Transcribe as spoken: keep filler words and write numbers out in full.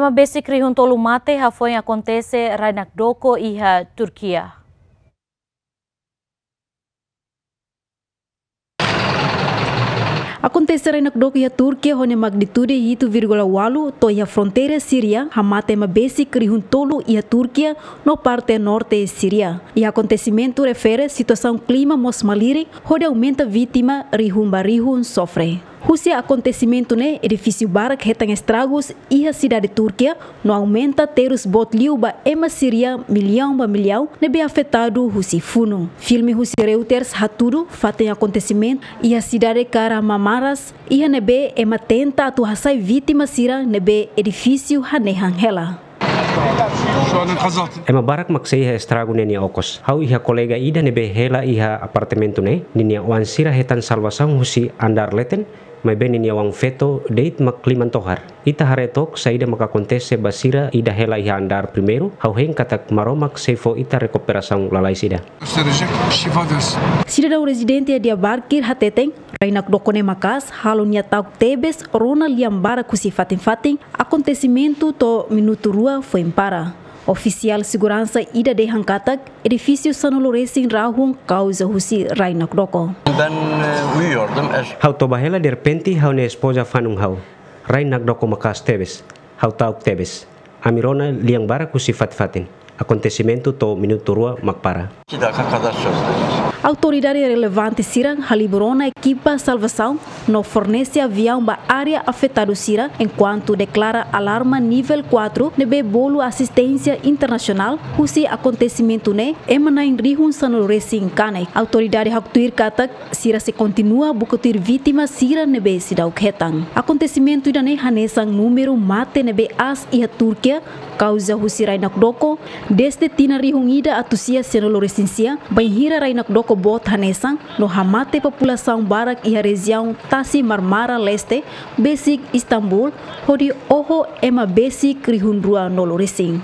Ema besik rihun tolu mate hafoin akontese rai nakdoko iha Turkia. Akontese rai nakdoko iha Turkia ho nia magnitude hitu vírgula ualu to'o iha fronteira Síria, hamate ema besik rihun tolu iha Turkia no parte norte Síria. Iha akontesimentu refere situasaun klima mós malirin, hodi aumenta vítima rihun ba rihun sofre. Husi akontesimentu ne'e, edifísiu barak hetan estragus iha sidade Turkia, no aumenta terus boot liu ba ema Síria millaun ba millaun ne'ebé afetadu husi funu. Filme husi Reuters hatudu fatin akontesimentu iha sidade Kahramanmaraş, iha ne'ebé ema tenta atu hasai vítima sira ne'ebé edifísiu hanehan hela. Ema barak mak sei iha estragu ne'e nia okos. Ha'u iha kolega ida ne'ebé hela iha apartamentu ne'e, ninia oan sira hetan salvasaun husi andár leten, maibé ninia oan feto de'it mak liman tohar. Ita haree took saida mak akontese ba sira ida hela iha andár primeiru, ha'u hein katak Maromak sei fó ita rekuperasaun lalais ida. Sidadaun rezidente iha Diyarbakir hateten, rai nakdoko ne'e maka'as halo nia ta'uk tebes rona lian barak husi fatin-fatin, akontesimentu to'o minutu rua foin para. Ofisiál seguransa ida dehan katak edifísiu sanulu resin rahun kauza husi rai nakdoko. Ben e, uyuyordum. Ha'u toba hela derrepente ha'u-nia espoza fanun ha'u. Rai nakdoko maka'as tebes. Ha'u ta'uk tebes. Ami rona lian barak husi fatin-fatin. Akontesimentu to'o minutu rua mak para. Autoridade relevante sira halibur ona ekipa salvasaun no fornese aviaun ba área afetadu sira, enkuantu deklara alarma nivel kuatru ne'ebé bolu asisténsia internasionál. Husi akontesimentu ne'e, ema na'in rihun sanulu resin kanek. Autoridade haktuir katak sira sei kontinua buka tuir vítima sira ne'ebé seidauk hetan. Akontesimentu ida-ne'e hanesan númeru mate ne'ebé aas iha Turkia, kauza husi rai nakdoko, dezde tinan rihun ida atus sia sianulu resin sia, bainhira rai nakdoko boot hanesan, no hamate populasaun barak iha rejiaun Tasi Marmara Leste, besik Istambul, hodi oho ema besik rihun rua nulu resin.